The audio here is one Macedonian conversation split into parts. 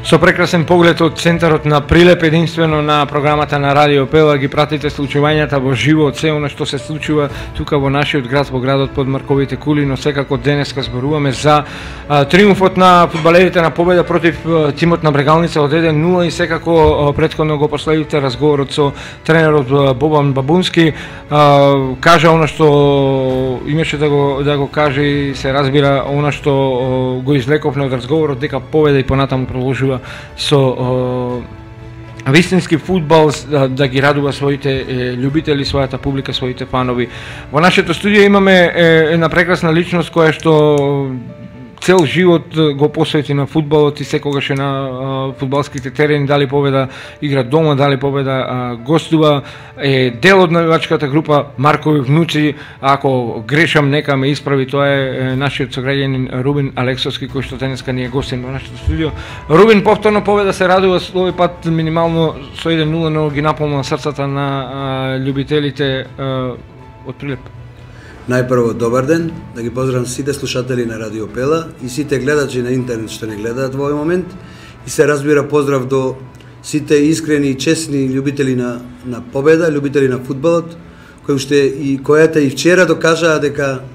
Со прекрасен поглед од центарот на Прилеп, единствено на програмата на Радио Пела, ги пратите случувањата во живо од се она што се случува тука во нашиот град, во градот под Марковите кули, но секако денеска зборуваме за триумфот на фудбалерите на победа против тимот на Брегалница од 1-0 и секако претходно го последите разговорот со тренерот Бобан Бабунски, кажа она што имаше да го каже и се разбира она што го извлековме од разговорот, дека победа и понатаму продолжува со вистински фудбал да ги радува своите љубители, својата публика, своите фанови. Во нашето студио имаме една прекрасна личност која што цел живот го посвети на фудбалот и секогаш е на фудбалските терени, дали победа игра дома, дали победа гостува, е дел од навивачката група Маркови внуци, ако грешам нека ме исправи, тоа е нашиот сограѓанин Рубин Алексовски, кој што денеска ни е гостин во нашето студио. Рубин, повторно победа се радува, овој пат минимално со 1-0, но ги наполнува срцата на љубителите од Прилеп. Најпрво, добар ден, да ги поздравам сите слушатели на Радио Пела и сите гледачи на интернет што не гледаат во овој момент и се разбира поздрав до сите искрени и честни љубители на победа, љубители на фудбалот, којата и вчера докажаа дека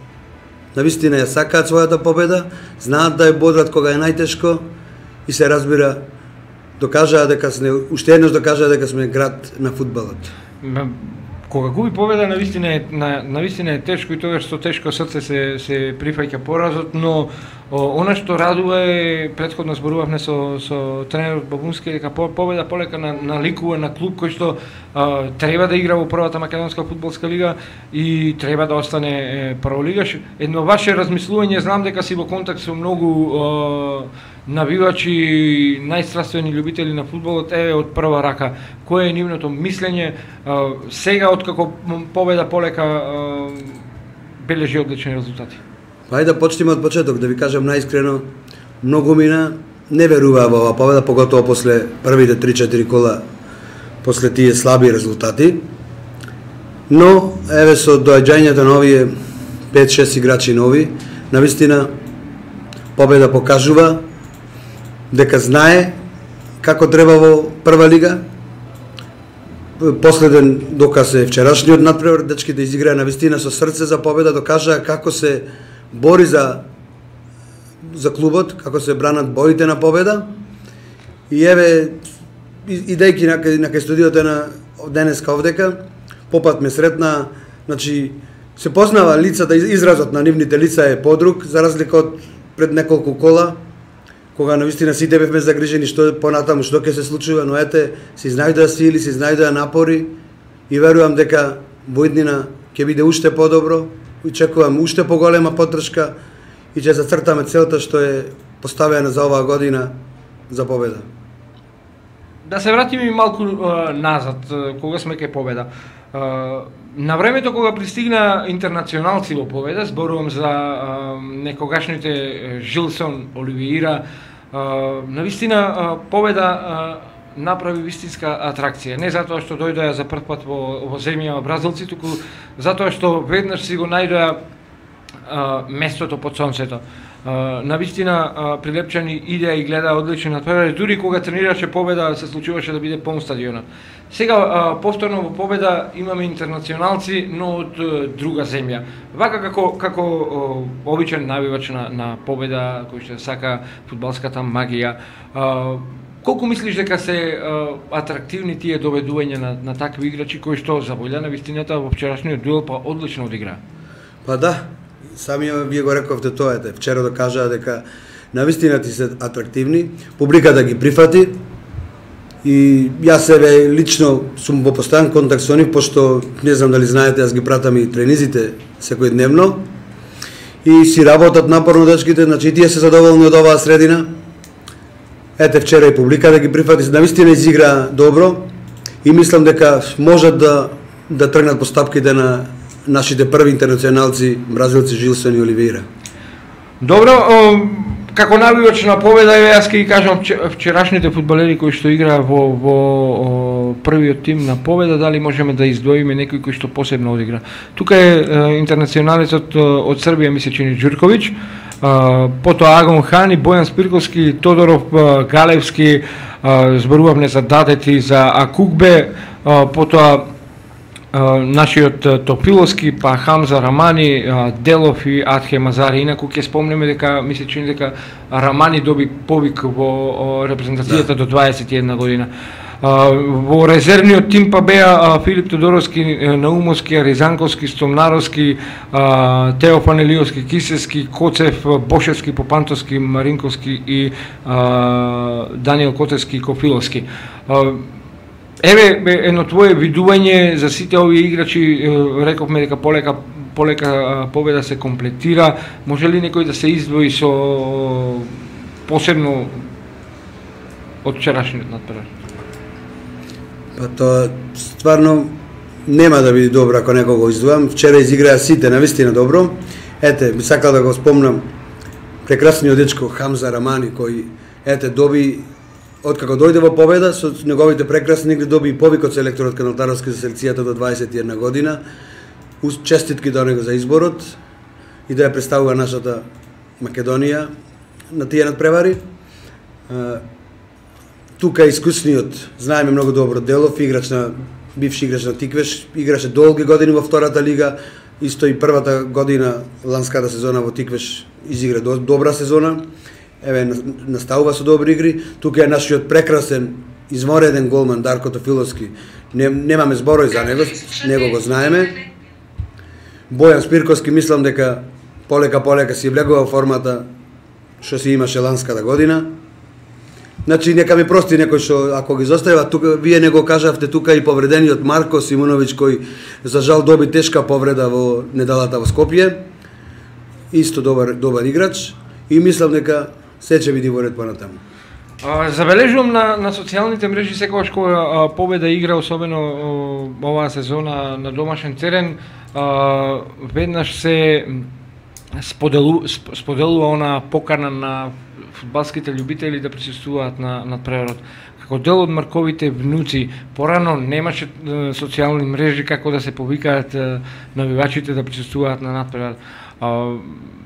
навистина ја сакаат својата победа, знаат да ја бодрат кога е најтешко и се разбира докажаа дека уште еднаш докажаа дека сме град на фудбалот. Кога губи победа, навистина е тешко и тогаш со тешко срце се прифаќа поразот, но она што радува е, претходно зборувавме со тренерот Бабунски, дека победа полека наликува на клуб кој што треба да игра во првата македонска фудбалска лига и треба да остане прволигаш. Едно ваше размислување, знам дека си во контакт со многу навивачи, најстрастweni љубители на фудбалот, е од прва рака. Кое е нивното мислење сега откако победа полека бележи одлични резултати? Ајде да почнеме од почеток, да ви кажам најискрено, многу мина не веруваа во оваа победа, поготово после првите 3-4 кола, после тие слаби резултати. Но еве со доаѓањето на овие 5-6 играчи нови, навистина победа покажува дека знае како треба во прва лига. Последен доказ е вчерашниот надпревар, дечките изиграа навистина со срце за победа, докажаа како се бори за клубот, како се бранат боите на победа. И еве, идејќи на кај студиото на денеска овдека, попат ме сретна, значи, се познава лицата, изразот на нивните лица е подруг, за разлика од пред неколку кола, кога навистина сите бевме загрижени што понатаму што ќе се случува, но ете, се изнајдоа сили, се изнајдоа напори и верувам дека во иднина ќе биде уште подобро и чекувам уште поголема поддршка и ќе зацртаме целта што е поставена за оваа година за победа. Да се вратиме и малку назад, кога сме кај победа. На времето кога пристигна интернационалци во победа, зборувам за некогашните Жилсон, Оливиира, навистина победа направи вистинска атракција. Не затоа што дојдоа за прв пат во земја бразилци, туку затоа што веднаш си го најдоа местото под сонцето. Навистина прилепчани идеа и гледаа одлични надпревари, дури кога тренираше победа се случуваше да биде полн стадионот. Сега повторно во победа имаме интернационалци, но од друга земја. Вака како обичен навивач на победа, кој што сака фудбалската магија, колку мислиш дека се атрактивни тие доведувања на такви играчи кои што за волја на вистината во вчерашниот дуел па одлично одигра? Па да, самиот вие го рековте тоа, вчера докажаа дека навистина ти се атрактивни, публиката ги прифати и јас себе лично сум во постојан контакт со нив, пошто не знам дали знаете, јас ги пратам и тренизите секојдневно и си работат напорно дечките, значи тие се задоволни од оваа средина. Ете вчера и публиката ги прифати, навистина изигра добро и мислам дека можат да тргнат по стапките на нашите први интернационалци, бразилци Жилсон и Оливиира. Добро, како навивач на победа, јас ќе ги кажам вчерашните фудбалери кои што играа во првиот тим на победа, дали можеме да издвоиме некој кој што посебно одигра. Тука е интернационалецот од Србија, ми се чини Ѓурковиќ, потоа Агон Хани, Бојан Спирковски, Тодоров, Галевски, зборувавме за Дадети, за Акукбе, потоа нашиот Топиловски, па Хамза Рамани, Делов и Атхе Мазари. Инаку ќе спомнеме дека ми се чини дека Рамани доби повик во репрезентацијата до 21 година. Во резервниот тим па беа Филип Тодоровски, Наумовски, Ризанковски, Стомнаровски, Теофан Елиовски, Кисевски, Коцев, Бошевски, Попантовски, Маринковски и Даниел Котевски и Кофиловски. Еве едно твое видување за сите овие играчи, рековме дека полека победа се комплетира. Може ли некој да се издвои со посебно од вчерашниот натпревар? Па тоа стварно нема да биде добро ако некој го издвојам. Вчера изиграа сите навистина добро. Ете, би сакал да го спомнам прекрасниот дечко Хамза Рамани кој доби откако дојде во победа со неговите прекрасни игри, доби и повик од селекторот Каналтаровски за селекцијата до 21 година. Честитки до него за изборот и да ја представува нашата Македонија на тие надпревари. Тука искусниот, знаеме многу добро Делов, бивши играч на Тиквеш, играше долги години во втората лига, исто и првата година, ланската сезона во Тиквеш изигра добра сезона. Еве наставува со добри игри. Тука е нашиот прекрасен, измореден голман Дарко Тофиловски. Немаме зборови за него го знаеме. Бојан Спирковски, мислам дека полека си влегува формата што си имаше ланската година. Значи нека ми прости некој што ако ги зоставува тука, вие не го кажавте тука и повредениот Марко Симуновиќ кој за жал доби тешка повреда во неделата во Скопје. Исто добар играч и мислам дека се ќе биде во ред понатаму. Забележувам на социјалните мрежи секогаш кога победа игра, особено оваа сезона на домашен терен, веднаш се споделува она покана на фудбалските љубители да присуствуваат на надпреварот. Како дел од Марковите внуци, порано немаше социјални мрежи како да се повикаат навивачите да присуствуваат на надпревар.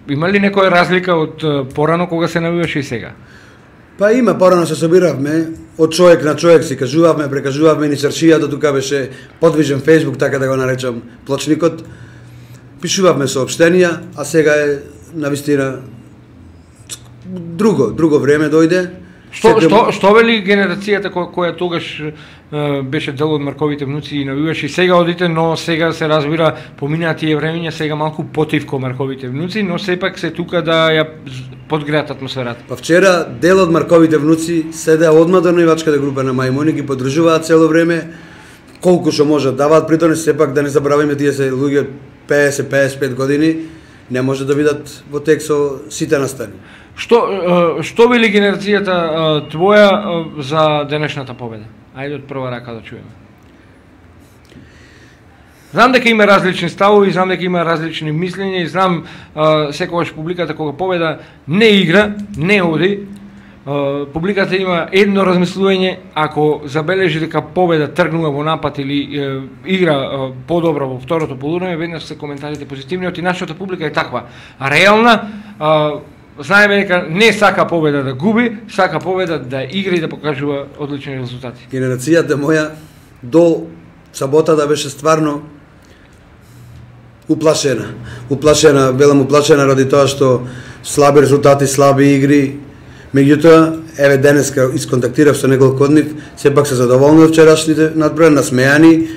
Има ли некоја разлика од порано кога се навиваше и сега? Па има, порано се собиравме, од човек на човек си кажувавме, прекажувавме, ни срчијата, тука беше подвижен Facebook, така да го наречам, плочникот. Пишувавме соопштенија, а сега е навистина друго време дојде. Што вели генерацијата која тогаш беше дел од Марковите внуци и навиваше и сега одите, но сега се разбира, поминаа тие времења, сега малку потивко Марковите внуци, но сепак се тука да ја подгреат атмосферата. Па вчера дел од Марковите внуци седеа одма до наивачката група на Мајмуни, ги поддржуваат цело време, колку што можат даваат, притоа сепак да не забравиме тие се луѓе 50-55 години, не може да видат во тек со сите настани. Што вели генерацијата твоја за денешната победа? Ајде од прва рака да чуеме. Знам дека има различни ставови, знам дека има различни мислења и знам секогаш публиката кога победа не игра, не оди. Публиката има едно размислување, ако забележи дека победа тргнува во напад или игра подобро во второто полувреме, веднаш се коментарите позитивни, и нашата публика е таква. Реална, знаеме дека не сака победа да губи, сака победа да игра и да покажува одлични резултати. Генерацијата моја до саботата беше стварно уплашена, велам уплашена ради тоа што слаби резултати, слаби игри. Меѓутоа, еве денеска исконтактирав со неколку од нив, сепак се задоволни од вчерашните надпревари, насмеани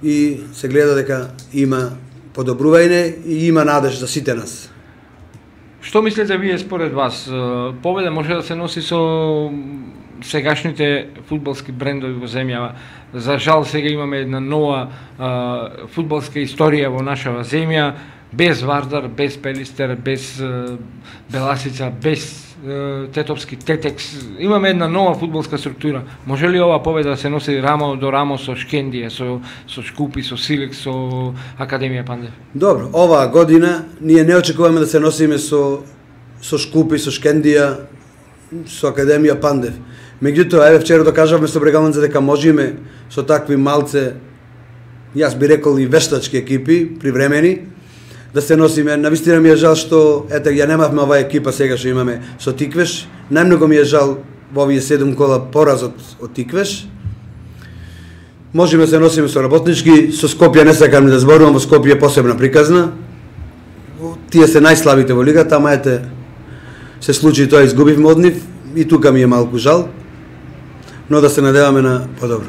и се гледа дека има подобрување и има надеж за сите нас. Што мислите вие според вас? Победа може да се носи со сегашните фудбалски брендови во земјава? За жал сега имаме една нова фудбалска историја во нашава земја, без Вардар, без Пелистер, без Беласица, без Тетовски, Тетекс. Имаме една нова фудбалска структура. Може ли ова победа да се носи рамо до рамо со Шкендија, со Шкупи, со Силек, со Академија Пандев? Добро, оваа година ние не очекуваме да се носиме со Шкупи, со Шкендија, со Академија Пандев. Меѓутоа, еве вчера докажавме со Брегалница дека можеме со такви малце, јас би рекол и вештачки екипи, привремени, да се носиме. Навистина ми е жал што ете ја немавме оваа екипа сега што имаме со Тиквеш. Најмногу ми е жал во овие 7 кола поразот од Тиквеш. Можеме да се носиме со работнички, со Скопје не сакам да зборувам, во Скопје е посебна приказна. Тие се најслабите во лигата, ама ете се случи тоа, изгубивме од нив и тука ми е малку жал. Но да се надеваме на подобро.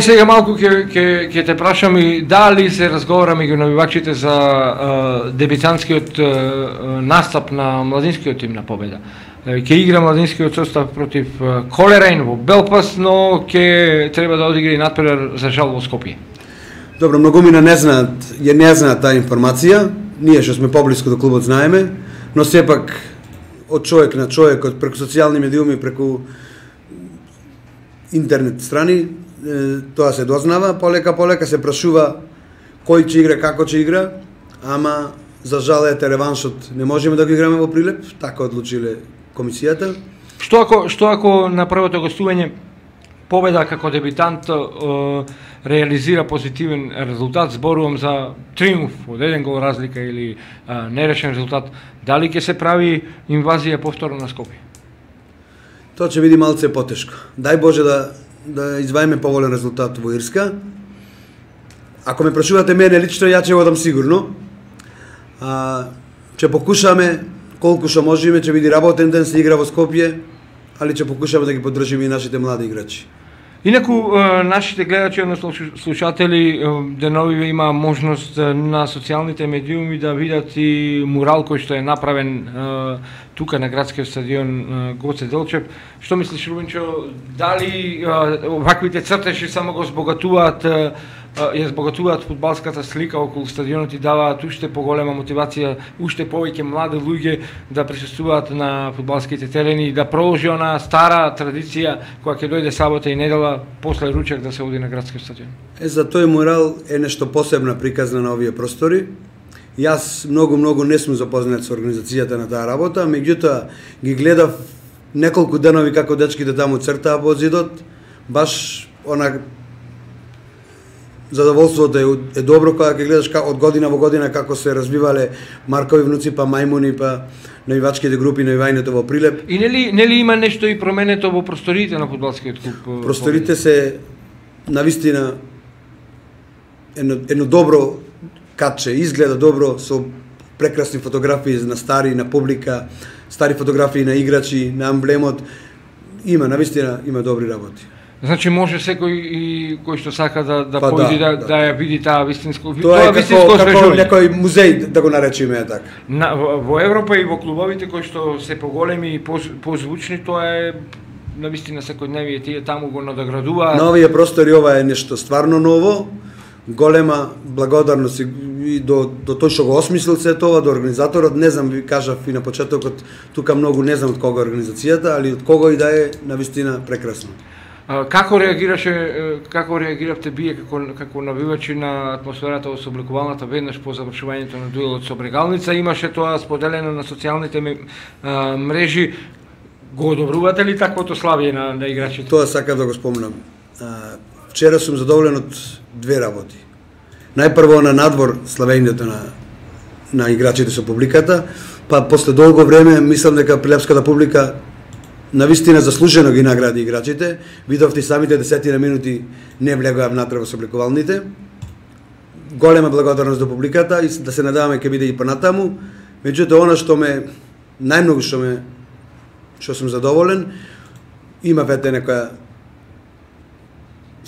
Сега малку ќе те прашам и дали се разговара меѓу навивачите за дебитантскиот настап на младинскиот тим на Победа. Ќе игра младинскиот состав против Колерен во Белфаст, но ќе треба да одигра и натпревар за жал во Скопје. Добро, многумина не знаат таа информација. Ние што сме поблиску до клубот знаеме, но сепак од човек на човек, од преку социјални медиуми, преку интернет страни, тоа се дознава, полека се прашува кој ќе игра, како ќе игра, ама за жал ете реваншот не можеме да го играме во Прилеп, така одлучиле комисијата. Што ако на првото гостување Победа како дебитант реализира позитивен резултат, зборувам за триумф од еден гол разлика или нерешен резултат, дали ќе се прави инвазија повторно на Скопје? Тоа ќе биде малце потешко. Дај Боже да изваиме поволен резултат во Ирска. Ако ме прашувате мене лично, ја ќе одам сигурно. Ќе покушаме колку што можеме, ќе биде работен ден, се игра во Скопје, али ќе покушаме да ги поддржиме и нашите млади играчи. Инаку, нашите гледачи, односно слушатели, деновиве има можност на социјалните медиуми да видат и мурал кој што е направен тука на градскиот стадион Гоце Делчев. Што мислиш, Рубинчо, дали ваквите цртежи само го ја збогатуваат фудбалската слика околу стадионот и даваат уште поголема мотивација, уште повеќе млади луѓе да присуствуваат на фудбалските терени и да продолжи онаа стара традиција која ќе дојде сабота и недела после ручек да се оди на градскиот стадион? За тој мурал е нешто посебна приказна на овие простори. Јас многу не сум запознат со организацијата на таа работа, меѓутоа ги гледав неколку денови како дечките таму цртаа по зидот, баш она задоволството е добро кога ќе гледаш од година во година како се развивале Маркови внуци, па мајмуни, па навивачките групи, навивањето во Прилеп. И нели има нешто и променето во просториите на фудбалскиот клуб? Просторите се навистина едно добро катче, изгледа добро со прекрасни фотографии на стари, на публика, стари фотографии на играчи, на амблемот. Навистина има добри работи. Значи може секој и кој што сака да појде да ја види таа вистинско тоа вистинско како некој музеј да го наречиме така. Во Европа и во клубовите кои што се поголеми и позвучни, тоа е навистина секојдневие, тие таму го надоградуваат. На овие простори ова е нешто стварно ново. Голема благодарност и до тој што го осмислил се тоа, до организаторот, не знам, ви кажав и на почетокот, тука многу не знам од кога организацијата, али од кого и да е, навистина прекрасно. Како реагиравте вие како навивачи на атмосферата во собликувалната веднаш по завршувањето на дуелот со Брегалница? Имаше тоа споделено на социјалните мрежи. Го одобрувате ли таквото славие на играчите? Тоа сакав да го спомнам. Вчера сум задоволен од две работи. Најпрво на надвор славењето на играчите со публиката, па после долго време мислам дека прилепската публика навистина заслужено ги награди играчите. Видовте самите 10 минути не влегоа внатре во собликувалните. Голема благодарност до публиката и да се надеваме ќе биде и понатаму. Меѓутоа, она што сум задоволен, има вете некоја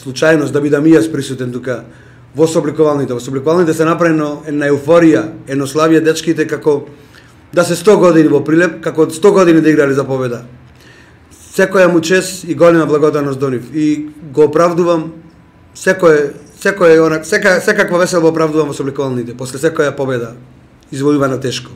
случајност да бидам и јас присутен тука во собликувалните. Во собликувалните се направено една еуфорија, едно славие дечките како да се 100 години во Прилеп, како 100 години да играли за победа. Секоја му чест и голема благодарност до нив. И го оправдувам секаква весела го оправдувам во собликувалните после секоја победа извојувана тешко.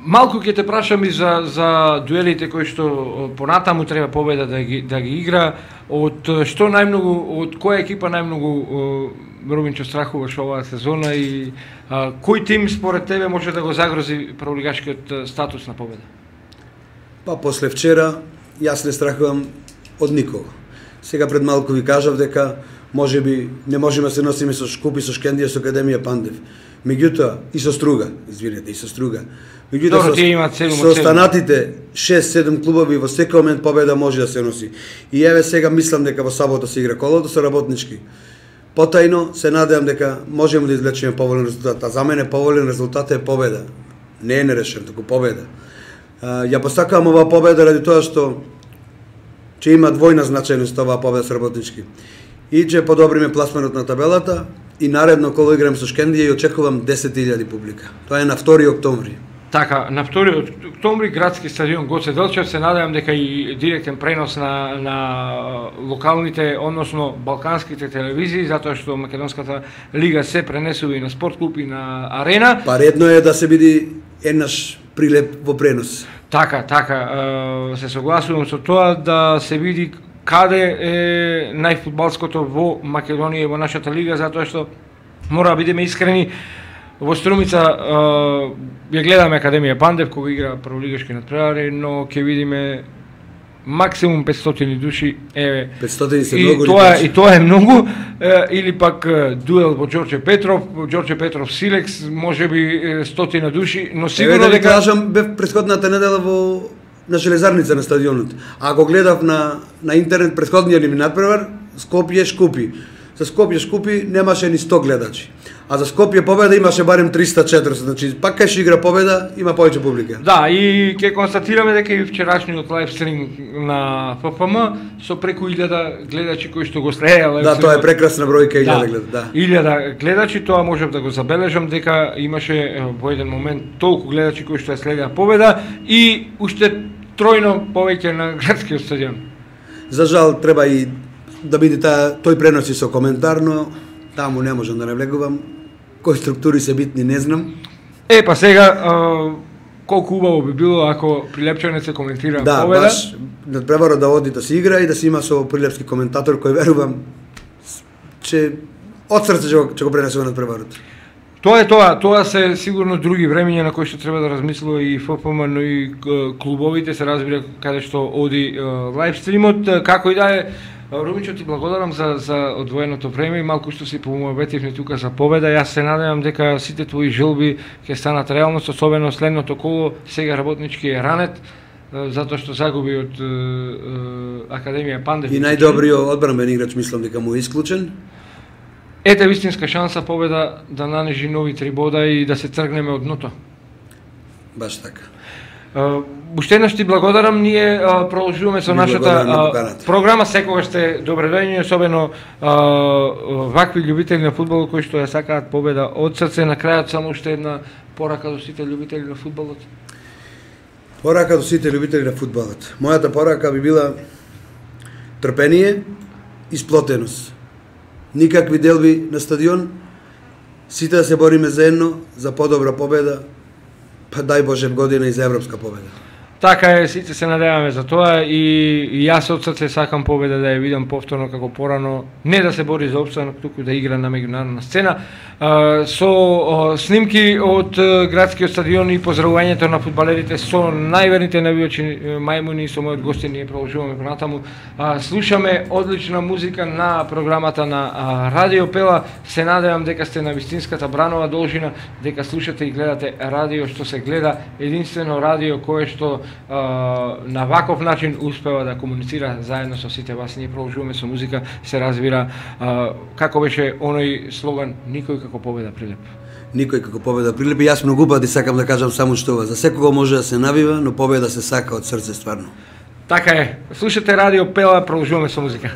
Малку ќе те прашам и за дуелите кои што понатаму треба Победа да ги игра. Од која екипа најмногу Рубинчо страхуваш оваа сезона и кој тим според тебе може да го загрози прволигашкиот статус на Победа? Па после вчера јас не страхувам од никого. Сега пред малку ви кажав дека можеби не можеме да се носиме со Шкупи, со Шкендија, со Академија Пандев. Меѓутоа, и со Струга, извинете, и со Струга. Меѓутоа, со останатите 6-7 клубови во секој момент победа може да се носи. И еве сега мислам дека во сабота се игра колото со Работнички. Потајно се надевам дека можеме да извлечеме поволен резултат. А за мене поволен резултат е победа. Не е нерешен, туку победа. Ја постакавам оваа победа ради тоа што ќе има двојна значајност оваа победа со Работнички. И ќе подобриме пласманот на табелата и наредно кога играм со Шкендија и очекувам 10.000 публика. Тоа е на 2 октомври. Така, на 2 октомври градски стадион Гоце Делчев, се надевам дека и директен пренос на локалните, односно балканските телевизии, затоа што Македонската лига се пренесува и на спорт клуб и на арена. Па редно е да се биде еднаш прилеп во пренос. Така, се согласувам со тоа да се види каде е најфудбалското во Македонија и во нашата лига, затоа што мора да бидеме искрени. Во Струмица ја гледаме Академија Пандев кога игра прволигашки надпревари, но ќе видиме максимум 500 души, еве. 500 се многу. И тоа е многу, или пак дуел во Ѓорче Петров Силекс, можеби 100 души, но сигурно дека кажам, бев претходната недела на Железарница на стадионот. А го гледав на интернет претходниот ни надпревар Скопје Шкупи. За Скопје Шкупи немаше ни 100 гледачи. А за Скопје Победа имаше барем 300-400, значи пак кај ќе игра Победа има повеќе публика. Да, и ќе констатираме дека и вчерашниот лајвстрим на ФФМ со преку 1000 гледачи кои што го следеа. Да, тоа е прекрасна бројка, 1000 гледачи, да. 1000 гледачи, тоа можев да го забележам дека имаше во еден момент толку гледачи кои што ја следеа Победа и уште тројно повеќе на градскиот стадион. За жал треба и да биде тој преноси со коментар, но таму не можам да навлегувам. Кои структури се битни, не знам. Па сега, колку убаво би било ако Прилепчанец се коментира Победа. Да, баш, надпреварот да оди да се игра и да се има со прилепски коментатор кој верувам че од срце ќе го пренесува надпреварот. Тоа се сигурно други времења на кои што треба да размислува и ФФМ, но и клубовите, се разбира каде што оди лајвстримот. Како и да е, Румичо, ти благодарам за одвоеното време и малку што си помоветивни тука за Победа. Јас се надевам дека сите твои желби ќе станат реалност, особено следното коло. Сега Работнички е ранет, затоа што загуби од Академија Пандев. И најдобриот одбранбен играч мислам дека му е исклучен. Ете вистинска шанса Победа да нанежи нови 3 бода и да се тргнеме од дното. Баш така. Уште еднаш ти благодарам, ние продолжуваме со нашата програма, секогаш сте добредојни, особено вакви љубители на фудбалот кои што ја сакаат Победа од срце. На крајот само уште една порака до сите љубители на фудбалот. Порака до сите љубители на фудбалот. Мојата порака би била трпение и сплотеност. Никакви делби на стадион, сите да се бориме заедно за подобра победа, па дај Боже година и за европска победа. Така е, сите се надеваме за тоа и јас од срце сакам Победа да ја видам повторно како порано, не да се бори за опстанок, туку да игра на меѓународна сцена. Со снимки од градскиот стадион и поздравувањето на фудбалерите со најверните навијачи мајмуни и со мојот гости ние продолжуваме понатаму. Слушаме одлична музика на програмата на Радио Пела. Се надевам дека сте на вистинската Бранова должина, дека слушате и гледате радио што се гледа, единствено радио кое што на ваков начин успева да комуницира заедно со сите вас. Ние продолжуваме со музика, се разбира, како беше оној слоган, никој како Победа Прилеп. Никој како Победа Прилеп. И јас многу пати сакам да кажам само што ова. За секого може да се навива, но победа се сака од срце стварно. Така е. Слушате Радио Пела, продолжуваме со музика.